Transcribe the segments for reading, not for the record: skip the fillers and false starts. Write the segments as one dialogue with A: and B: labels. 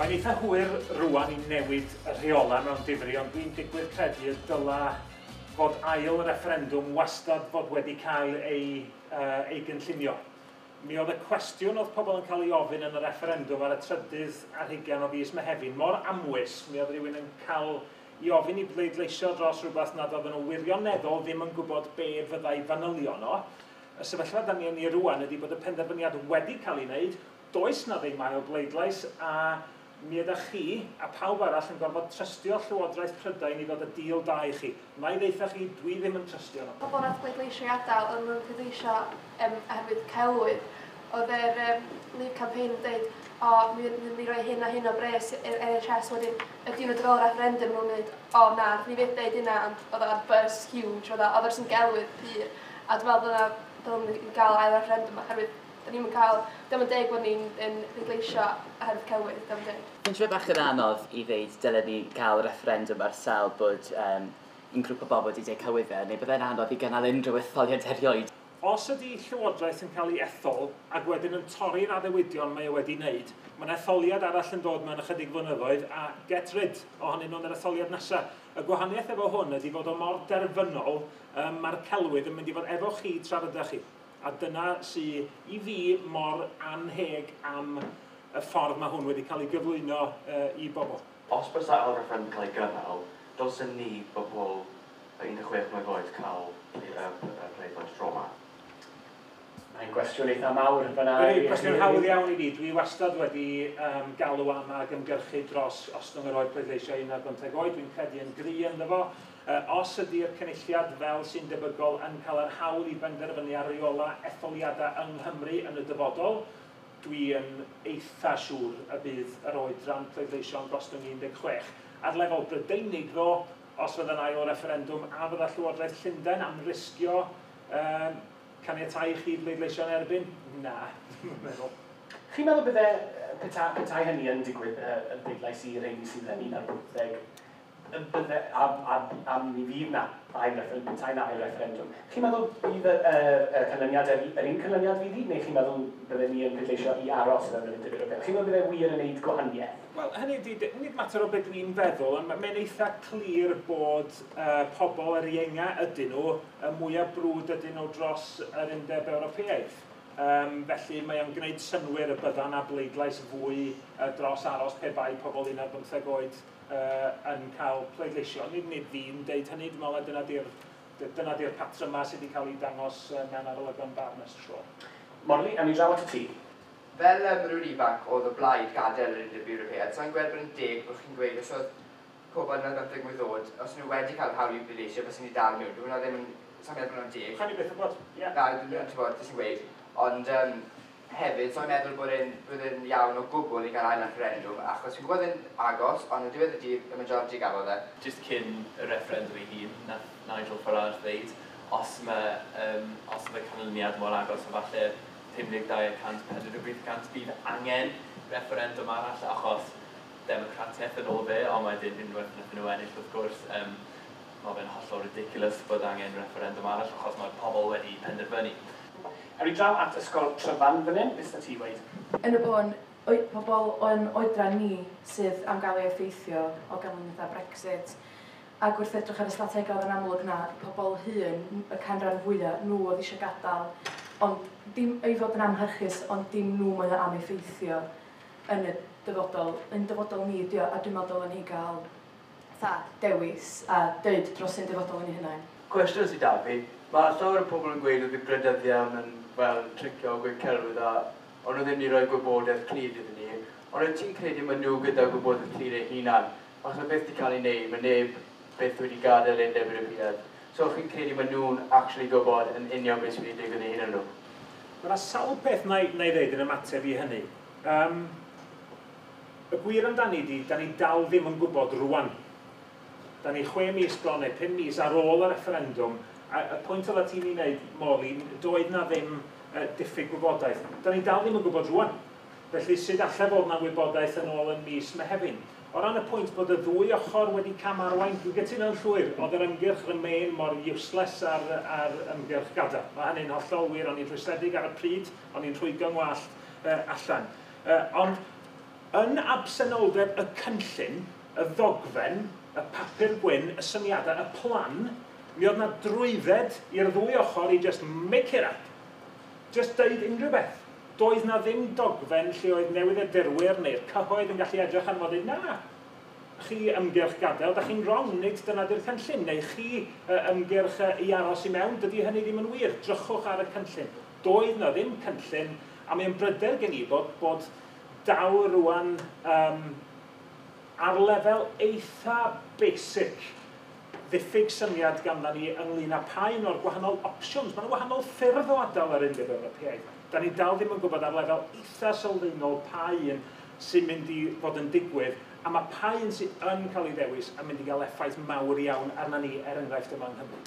A: Mae'n eitha hwyr rwan i newid y rheolau mewn difri, ond dwi'n digwydd credu y dyla fod ail refferendwm wastad fod wedi cael ei gynllunio. Mi oedd y cwestiwn oedd pobl yn cael ei ofyn yn y refferendwm ar y trydydd ar hugain o fis Mehefin mor amwys, mi oedd rhywun yn cael i ofyn i bleidleisio dros rhywbeth nad oedden nhw wirioneddol ddim yn gwybod be fyddai fanylion o. Y sefyllfa da ni yn ei rwan ydy bod y penderfyniad wedi cael ei wneud, does na ddim ail bleidlais, a mi ydych chi a pawb arall yn gorfod trystio Llywodraeth Prydain i ddod y deal da i chi. Na i ddeutha chi, dwi ddim yn trystio nhw.
B: Pobl nath bleidleisio i adael, oedden nhw'n pleidleisio oherwydd celwydd. Oedd yr Leave campaign yn dweud, o, mi mynd i roi hyn a hyn o bres i'r NHS, wedyn y diwrnod ar ôl referendum nhw'n dweud, o na, ni fyth deud hynna, ond oedd o'r buzz huge, oedd oedd yn gelwydd pur. A dwi'n meddwl dyna dylwn ni gael ail referendum, oherwydd da ni'n cael, dim yn deg bod ni'n yn pleidleisio oherwydd celwydd, dim yn deg.
C: Fi'n siŵr bach yn anodd i ddeud dylen ni gael referendum ar sail bod un grŵp o bobl wedi deud celwyddau, neu byddai'n anodd i gynnal unrhyw etholiad erioed.
A: Os ydy Llywodraeth yn cael ei ethol ac wedyn yn torri'r addewidion mae o wedi wneud, mae'n etholiad arall yn dod mewn ychydig flynyddoedd a get rid ohonyn nhw'n yr etholiad nesaf. Y gwahaniaeth efo hwn ydy fod o mor derfynol, mae'r celwydd yn mynd i fod efo chi tra rydych chi. A dyna sy i fi mor anheg am y ffordd mae hwn wedi cael ei gyflwyno i bobl.
D: Os bysa ail referendum cael ei gynnal, dylsen ni bobl 16 mlwydd oed cael pleidlais tro yma?
E: Mae'n gwestiwn eitha mawr fyna.
A: Ydy, cwestiwn hawdd iawn i fi. Dwi wastad wedi galw am ag ymgyrchu dros ostwng yr oed pleidleisio 15 oed. Dwi'n credu yn gry ynddo fo. Os ydy'r cynulliad fel sy'n debygol yn cael yr hawl i benderfynu ar reola etholiadau yng Nghymru yn y dyfodol, dwi yn eitha siŵr y bydd yr oedran pleidleisio'n gostwng 16. Ar lefel Brydeinig ddo, os fydda'n ail referendwm, a fydda Llywodraeth Llundain am risgio caniatáu i chi bleidleisio yn erbyn? Na, dwi'n meddwl.
E: Chi'n meddwl bydde, petai hynny yn digwydd, y bleidlais i rheini sydd yn 15, bydde, a mi fydd na ail referendum, petai na ail referendum, chi'n meddwl bydd y canlyniad yr un canlyniad fydd hi, neu chi'n meddwl bydde ni yn pleidleisio i aros mewn yr Undeb Ewropeaidd? Chi'n meddwl bydde wir yn neud gwahaniaeth?
A: Wel, hynny ydi, nid mater o beth dwi'n feddwl, ond mae'n eitha clir bod pobl yr ienga ydyn nhw, y mwyaf brwd ydyn nhw dros yr Undeb Ewropeaidd. Felly mae o'n gwneud synnwyr y bydda na bleidlais fwy dros aros pe bai pobl 15 oed yn cael pleidleisio. Nid fi'n deud hynny, dwi'n meddwl dyna di'r patrymau sydd wedi cael ei dangos mewn arolygon barn ers tro.
E: Morley, awn ni draw at y ti.
F: Fel rhywun ifanc oedd o blaid gadael yr Undeb Ewropeaidd, sa'n gweld bod yn deg bod chi'n gweud os oedd pobl yn 15 mlwydd oed, os nhw wedi cael hawl i bleidleisio, fysen ni dal mewn. Dwi'n ddim yn, sa'n meddwl bod hwnna'n deg.
A: Chawn ni byth wybod, ie.
F: Na, dwi'n meddwl, ti'n gwbod, jyst yn gweud. Ond hefyd, sa'n meddwl bod e'n iawn o gwbl i gael ail referendum, achos fi'n gwybod e'n agos, ond yn diwedd y dydd, y majority gafodd e.
G: Just cyn y referendum ei hun, nath Nigel Farage ddeud, os mae canlyniad mor agos o falle 52%, 48% bydd angen referendum arall, achos democratiaeth yn ôl fe, ond wedyn unwaith wnaethon nhw ennill wrth gwrs, mae fe'n hollol ridiculous bod angen referendum arall, achos mae pobl wedi penderfynu.
E: Awn ni draw at Ysgol Tryfan fan hyn, beth ti weud?
H: Yn y bôn, pobl o'n oedran ni sydd am gael ei effeithio o ganlyniadau Brexit. Ac wrth edrych ar y strategol yn amlwg na, pobl hŷn, y canran fwyaf, nhw oedd eisiau gadael, ond dim ei fod yn amharchus, ond dim nhw mae o am effeithio yn y dyfodol, yn dyfodol ni ydi o, a dwi'n meddwl dylen ni gael dewis a deud dros ein dyfodol yn ei hunain.
D: Cwestiwn sydd da fi, mae llawer o pobl yn gweud oedd y gwleidyddion yn fel tricio gweud celwydd a ond nhw ddim wedi rhoi gwybodaeth clir iddyn ni. Ond wyt ti'n credu maen nhw gyda gwybodaeth clir eu hunan? Achos mae beth wedi cael ei wneud, mae neb byth wedi gadael Undeb Ewropeaidd. So chi'n credu maen nhw'n actually gwybod yn union beth sydd wedi digwydd eu hunan nhw?
A: Mae yna sawl peth na i ddeud yn ymateb i hynny. Y gwir amdani di, da ni dal ddim yn gwybod rwan. Da ni 6 mis bron neu 5 mis ar ôl y referendwm, a y pwynt oedd ti'n ei wneud, Molly, doedd na ddim diffyg gwybodaeth. Da ni dal ddim yn gwybod rwan. Felly sut allai fod na wybodaeth yn ôl yn mis Mehefin? O ran y pwynt bod y ddwy ochr wedi camarwain, dwi'n gytuno'n llwyr, oedd yr ymgyrch Remain mor useless ar ymgyrch gadael. Mae hynny'n hollol wir, o'n i'n rhwystredig ar y pryd, o'n i'n rhwygo ngwallt allan. Ond Yn absenoldeb y cynllun, y ddogfen, y papur gwyn, y syniadau, y plan, mi oedd na drwydded i'r ddwy ochr i just make it up. Just deud unrhyw beth. Doedd na ddim dogfen lle oedd newyddiadurwyr neu'r cyhoedd yn gallu edrych arno fo a dweud, na, chi ymgyrch gadael, da chi'n wrong, nid dyna di'r cynllun, neu chi ymgyrch i aros i mewn, dydy hynny ddim yn wir, drychwch ar y cynllun. Doedd na ddim cynllun, a mae'n bryder gen i bod dal rwan ar lefel eitha basic ddiffyg syniad ganddo ni ynglyn â pa un o'r gwahanol opsiwns. Mae yna wahanol ffyrdd o adael yr Undeb Ewropeaidd. Da ni dal ddim yn gwybod ar lefel eitha sylfaenol pa un sy'n mynd i fod yn digwydd, a mae pa un sydd yn cael ei ddewis yn mynd i gael effaith mawr iawn arna ni, er enghraifft yma yng Nghymru.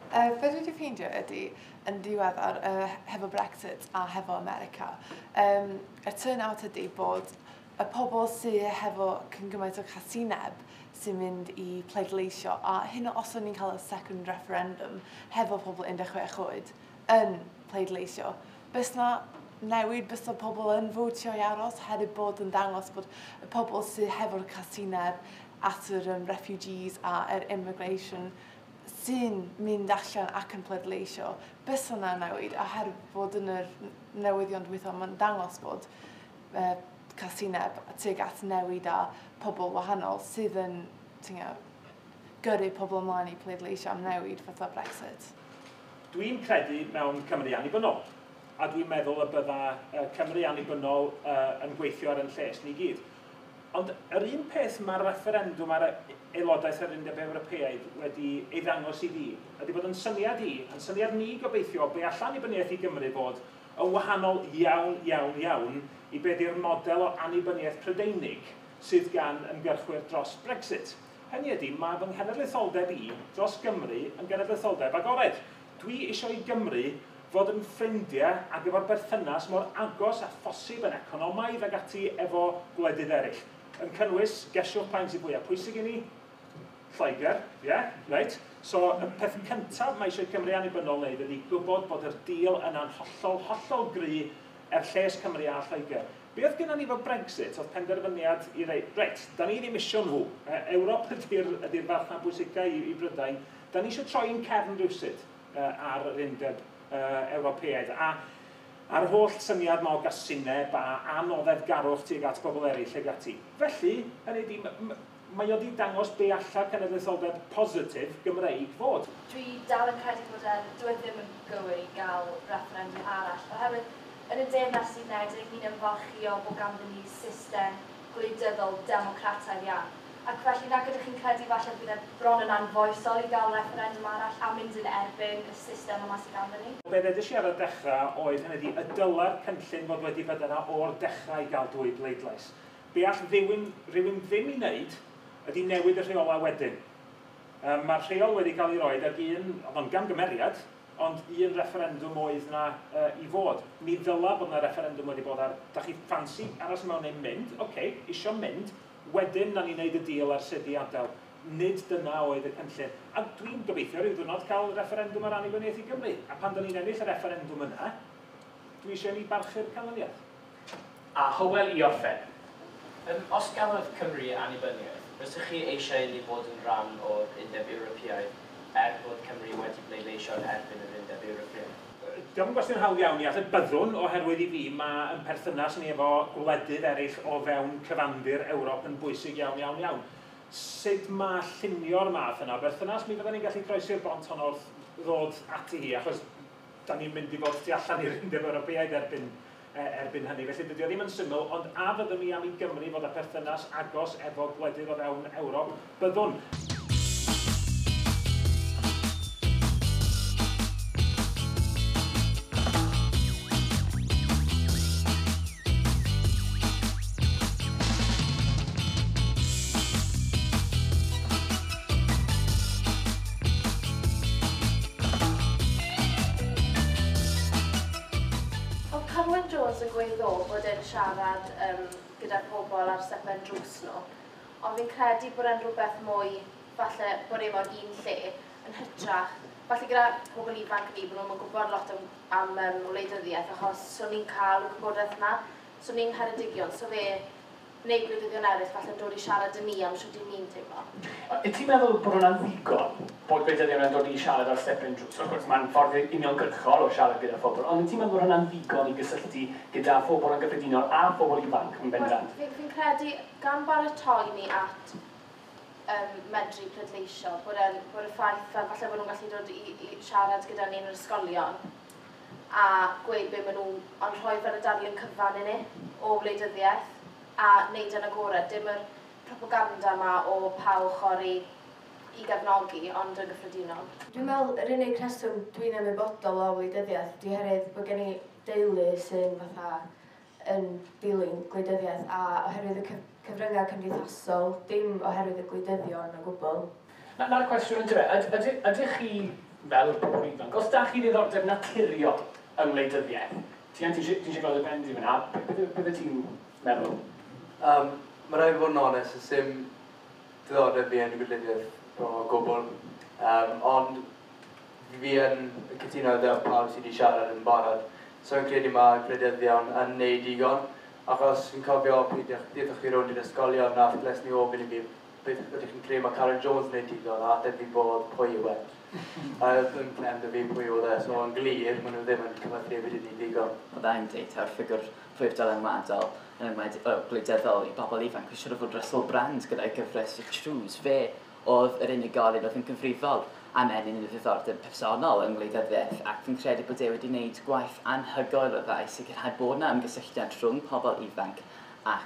I: Be dwi wedi ffeindio ydy, yn diweddar, hefo Brexit a hefo America, y turnout ydy bod y pobl sydd hefo cyn gymaint o casineb sy'n mynd i pleidleisio, a hyn os o'n ni'n cael y second referendum hefo pobl 16 oed yn pleidleisio, bys na newid, bys na pobl yn fotio i aros, hefyd bod yn dangos bod y pobl sydd hefo'r casineb at yr refugees a yr immigration sy'n mynd allan ac yn pleidleisio, bys yna newid, a herwydd bod yn yr newyddion dwytha, mae'n dangos bod casineb tuag at newid a pobl wahanol sydd yn gyrru pobl ymlaen i pleidleisio am newid fatha Brexit.
A: Dwi'n credu mewn Cymru annibynnol, a dwi'n meddwl y bydda Cymru annibynnol yn gweithio ar yn lles ni gyd. Ond yr un peth mae'r referendwm ar aelodaeth yr Undeb Ewropeaidd wedi ei ddangos i fi, ydy bod yn syniad i, yn syniad ni gobeithio, be all annibyniaeth i Gymru fod yn wahanol iawn, iawn, iawn i be di'r model o annibyniaeth Prydeinig sydd gan ymgyrchwyr dros Brexit. Hynny ydy, mae fy nghenedlaetholdeb i dros Gymru yn genedlaetholdeb agored. Dwi eisiau i Gymru fod yn ffrindiau ac efo'r berthynas mor agos a phosib yn economaidd ag ati efo gwledydd eraill. Yn cynnwys, gesiwch pa un sydd fwyaf pwysig i ni, Lloegr, ie, yeah, right? So, y peth cyntaf mae eisiau Cymru annibynnol wneud ydy gwybod bod yr deal yna'n hollol, hollol gry er lles Cymru a Lloegr. Be oedd gennym ni efo Brexit oedd penderfyniad i reit, reit, da ni ddim isio nhw. Ewrop ydy'r farchnad bwysica i Brydain. Da ni eisiau troi'n cefn rywsut ar yr Undeb Ewropeaidd. A a'r holl syniad ma o gasineb a anoddefgarwch tuag at bobl eraill ag ati. Felly, hynny ydy, mae o wedi dangos be alla cenedlaetholdeb positif Gymreig fod.
J: Dwi dal yn credu bod dyw e ddim yn gywir i gael referendum arall, oherwydd yn y Deyrnas Unedig ni'n ymfalchïo bod ganddyn ni system gwleidyddol democrataidd iawn. Ac felly nag ydych chi'n credu falle bydd e bron yn anfoesol i gael referendum arall a mynd yn erbyn y system yma sydd ganddyn ni?
A: Be ddeudais i ar y dechrau oedd hynny ydy y dyla'r cynllun fod wedi bod yna o'r dechrau i gael dwy bleidlais. Be all rhywun ddim i wneud ydy newid y rheolau wedyn. Mae'r rheol wedi cael ei roed ag un, oedd o'n gamgymeriad, ond un referendum oedd na i fod. Mi ddyla bod na referendum wedi bod ar, da chi ffansi aros mewn neu mynd, oce, okay, isio mynd, wedyn na ni wneud y deal ar sut i adael. Nid dyna oedd y cynllun. A dwi'n gobeithio rhyw ddiwrnod cael referendum ar annibyniaeth i Gymru. A pan da ni'n ennill y referendum yna, dwi eisiau ni barchu'r canlyniad.
K: A Hywel i orffen. Os gafodd Cymru annibyniaeth, rydych chi eisiau ni fod yn rhan o'r Undeb Ewropeaidd er bod Cymru wedi pleidleisio yn erbyn yr Undeb Ewropeaidd?
A: Diolch yn gwestiwn hawdd iawn i ateb. Byddwn, oherwydd i fi, mae yn perthynas ni efo gwledydd eraill o fewn cyfandir Ewrop yn bwysig iawn, iawn, iawn. Sut mae llunio'r math yna o berthynas? Mi fydden ni'n gallu croesi'r bont honno wrth ddod ati hi, achos da ni'n mynd i fod tu allan i'r Undeb Ewropeaidd erbyn hynny. Felly dydy o ddim yn syml, ond a fyddwn ni am i Gymru fod â perthynas agos efo gwledydd o fewn Ewrop? Byddwn.
H: Jones yn gweud ddo bod e'n siarad gyda pobl ar stepen drws nhw, ond fi'n credu bod e'n rhywbeth mwy, falle bod e mewn un lle, yn hytrach, falle gyda pobl ifanc ni, bod nhw'n gwybod lot am wleidyddiaeth, achos so ni'n cael y gwybodaeth yna, so ni'n Ngheredigion, so fe
J: neu gwleidyddion eraill falle'n dod i siarad â ni am shwt 'y ni'n teimlo.
E: Wyt ti'n meddwl bod hwnna'n ddigon, bod gwleidyddion yn dod i siarad ar stepen drws? Wrth gwrs, mae'n ffordd uniongyrchol o siarad gyda phobl, ond wyt ti'n meddwl bod hwnna'n ddigon i gysylltu gyda phobl yn gyffredinol a phobl ifanc yn bendant?
J: Fi'n credu, gan baratoi ni at medru pleidleisio, bod y ffaith fel falle bod nhw'n gallu dod i siarad gyda ni yn yr ysgolion a gweud be maen nhw, ond rhoi fel y darlun cyfan i ni o wleidyddiaeth a wneud yn agored, dim yr propaganda yma o pa ochr i gefnogi, ond yn gyffredinol.
B: Dwi'n meddwl yr unig rheswm dwi'n ymwybodol o wleidyddiaeth ydy oherwydd bod gen i deulu sy'n fatha yn dilyn gwleidyddiaeth a oherwydd y cyfryngau cymdeithasol, dim oherwydd y gwleidyddion o gwbl.
E: Na'r cwestiwn yn dyfe, ydych chi fel pobl ifanc, os da chi ddiddordeb naturiol yng ngwleidyddiaeth, ti'n eisiau gweld y ben di fyna, beth ti'n meddwl?
D: Mae rhaid i fod yn onest, does dim diddordeb fi yn gwleidyddiaeth bron o gwbl. Ond fi yn cytuno gyda pawb sydd wedi siarad yn barod. So fi'n credu mae gwleidyddion yn neud digon, achos fi'n cofio pryd daethoch chi rownd i'r ysgolion nath les ni ofyn i fi beth ydych chi'n credu mae Karen Jones yn neud digon, a ateb fi bod pwy yw e. A oedd yn clem 'da fi pwy oedd e, so yn glir, maen nhw ddim yn cyfathrebu 'da ni digon.
C: Oedd e'n deud ta'r ffigwr fwyaf dylanwadol yn enwedig gwleidyddol i bobl ifanc, fi'n siŵr o fod Russell Brand gyda'i gyfres y Trews. Fe oedd yr unigolyn oedd yn gyfrifol am ennyn y ddiddordeb personol yng ngwleidyddiaeth, ac fi'n credu bod e wedi wneud gwaith anhygoel o dda i sicrhau bod yna ymgysylltiad rhwng pobl ifanc a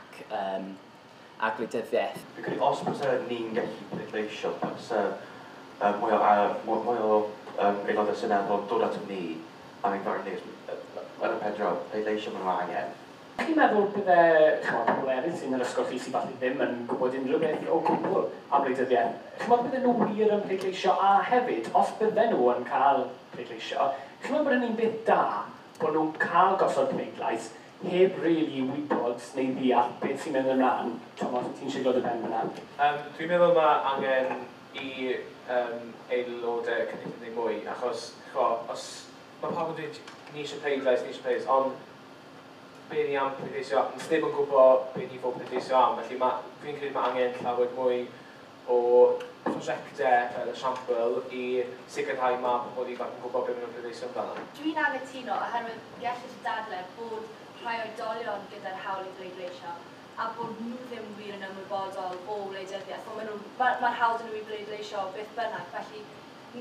C: gwleidyddiaeth.
L: Fi'n credu os byse ni'n gallu pleidleisio, byse mwy o aelodau seneddol dod ato ni am ein farn ni, yn y pen draw, pleidleisio maen nhw angen.
E: Chi'n meddwl bydde, chymod, pobl eraill sy'n yr ysgol chi sydd falle ddim yn gwybod unrhyw beth o gwbl am wleidyddiaeth, chi'n meddwl bydde nhw wir yn pleidleisio, a hefyd, os bydde nhw yn cael pleidleisio, chi'n meddwl bod hynny'n beth da bod nhw'n cael gosod pleidlais heb really wybod neu ddeall beth sy'n mynd ymlaen? Thomas, ti'n siglo dy ben fyna?
M: Dwi'n meddwl mae angen i aelodau cynulliad neu mwy, achos ch'mo, os mae pawb yn dweud ni eisiau pleidlais, ni eisiau pleidlais, ond be ni am pleidleisio, sneb yn gwybod be ni fod pleidleisio am, felly fi'n credu mae angen llawer mwy o prosiectau fel esiampl i sicrhau mae pobl ifanc yn gwybod beth maen nhw'n pleidleisio amdano.
J: Dwi'n anghytuno oherwydd gellid dadle bod rhai oedolion gyda'r hawl i bleidleisio a bod nhw ddim wir yn ymwybodol o wleidyddiaeth. Mae'r hawl 'da nhw i bleidleisio beth bynnag, felly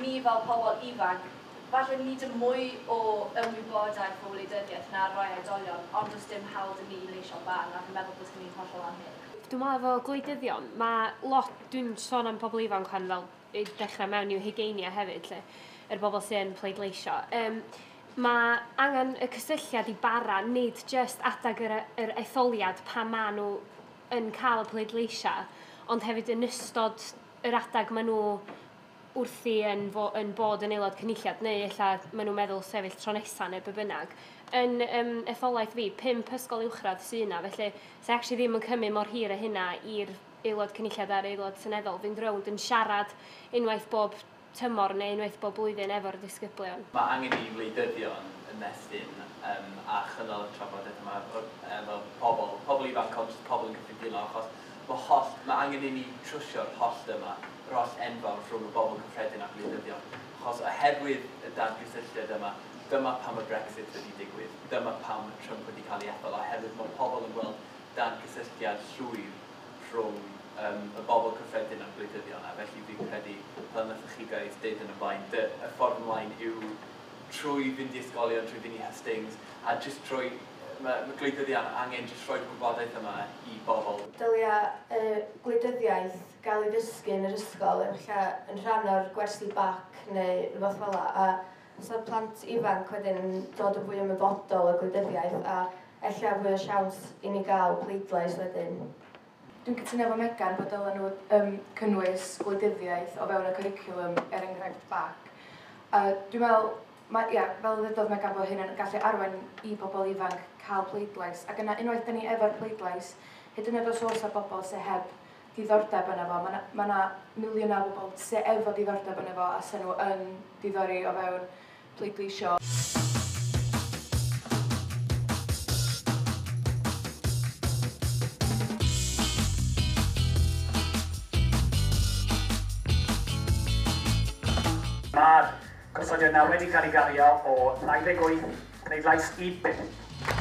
J: ni fel pobl ifanc, falle ni dim mwy o ymwybodaeth o wleidyddiaeth na rai oedolion, ond does dim hawl 'da ni i leisio barn, a fi'n meddwl bod hynny'n hollol annheg.
N: Dwi'n meddwl efo gwleidyddion, mae lot, dwi'n sôn am pobl ifanc pan fel i dechrau mewn i'w hugeiniau hefyd, lle, yr bobl sy'n pleidleisio. Mae angen y cysylltiad i bara, nid just adag yr etholiad pan maen nhw yn cael y pleidleisiau, ond hefyd yn ystod yr adag maen nhw wrthi yn bod yn aelod cynulliad, neu ella maen nhw'n meddwl sefyll tro nesaf neu be bynnag. Yn etholaeth fi, 5 ysgol uwchradd sydd yna, felly se actually ddim yn cymryd mor hir â hynna i'r aelod cynulliad a'r aelod seneddol fynd rownd yn siarad unwaith bob tymor neu unwaith bob blwyddyn efo'r disgyblion.
G: Mae angen i wleidyddion ymestyn a chynnal y trafodaeth yma efo pobl ifanc, ond jyst pobl yn gyffredinol, achos mae angen i ni trwsio'r hollt yma, yr hollt enfawr rhwng y bobl cyffredin a gwleidyddion. Achos oherwydd y dadgysylltiad yma, dyma pam y Brexit wedi digwydd, dyma pam mae Trump wedi cael ei ethol, oherwydd mae pobl yn gweld dadgysylltiad llwyr rhwng y bobl cyffredin a'r gwleidyddion, a felly fi'n credu, fel wnaethoch chi guys deud yn y blaen, y ffordd ymlaen yw trwy fynd i ysgolion, trwy fynd i hystings, a jyst trwy, mae gwleidyddion angen jyst rhoi'r gwybodaeth yma i bobl.
B: Dylia gwleidyddiaeth gael ei ddysgu yn yr ysgol yn rhan o'r gwersi bac neu rhywbeth fel 'na, a os oedd plant ifanc wedyn yn dod yn fwy ymwybodol o gwleidyddiaeth a ella fwy o siawns i ni gael pleidlais wedyn.
H: Dwi'n cytuno efo Megan bod dylen nhw cynnwys gwleidyddiaeth o fewn y cwricwlwm, er enghraifft bac. Dwi'n meddwl, ia, fel ddudodd Megan, bod hyn yn gallu arwain i bobl ifanc cael pleidlais. Ac yna, unwaith da ni efo'r pleidlais, hyd yn oed os oes 'na bobl sydd heb diddordeb yna fo, mae 'na miliynau o bobl sydd efo diddordeb yna fo a sy'n nhw yn diddori o fewn pleidleisio.
E: Mae'r gosodiad yna wedi cael ei gario o 28 pleidlais i 5.